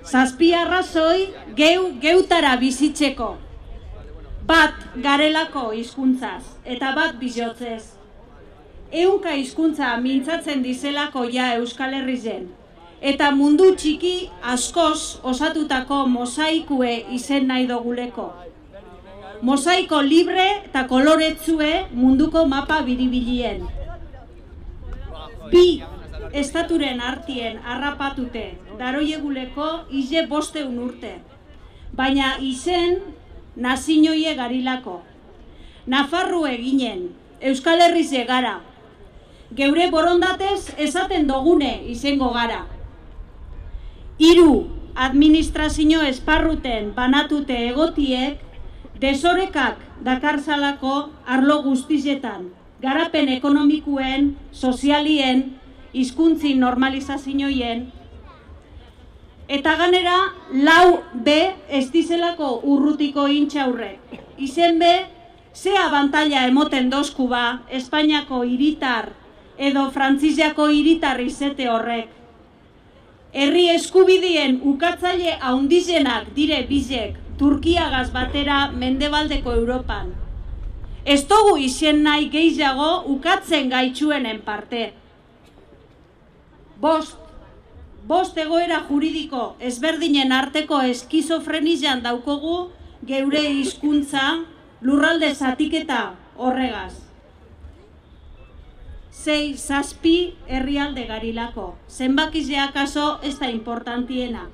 Zazpi arrazoi geutara bizitzeko. Bat garelako hizkuntzaz eta bat bizotzez. Ehunka hizkuntza mintzatzen dizelako ja Euskal Herrizen. Eta mundu txiki askoz osatutako mosaikue izen nahi doguleko. Mosaiko libre eta koloretsue munduko mapa biribilien. Bi estaturen artien harrapatute daroieguleko ize 500 urte. Baina izen nazinoie garilako. Nafarrue ginen, Euskal Herrize gara. Geure borondatez esaten dogune izango gara. 3 administrazio esparruten banatute egotiek desorekak dakarzalako arlo guztizetan, garapen ekonomikuen, sozialien, hizkuntzi normalizazioien, eta ganera 4B ez dizelako urrutiko intxaurrek. Izen be, ze abantaila emoten dozku ba Espainiako hiritar edo Frantziako hiritar izete horrek. Herri eskubidien ukatzaile haundizenak dire bizek Turkiagaz batera mendebaldeko Europan. Ez dugu izen nahi gehiago ukatzen gaitxuenen parte. 5 egoera juridiko ezberdinen arteko eskizofrenian daukogu geure hizkuntza lurralde zatiketa horregaz. 6 herrialde garilako, zenbakizea kaso ez da importantiena.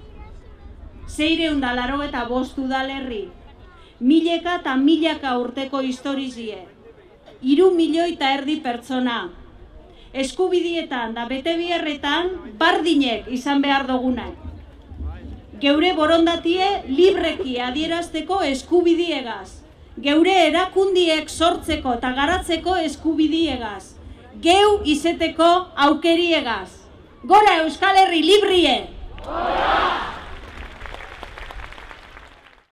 685 udalerri, mileka eta milaka urteko historizie, 3,5 milioi pertsona, eskubidietan da bete biherretan bardinek izan behar dugunak. Geure borondatie libreki adierazteko eskubidiegaz, geure erakundiek sortzeko eta garatzeko eskubidiegaz, geu izeteko aukeriegaz. Gora Euskal Herri librie!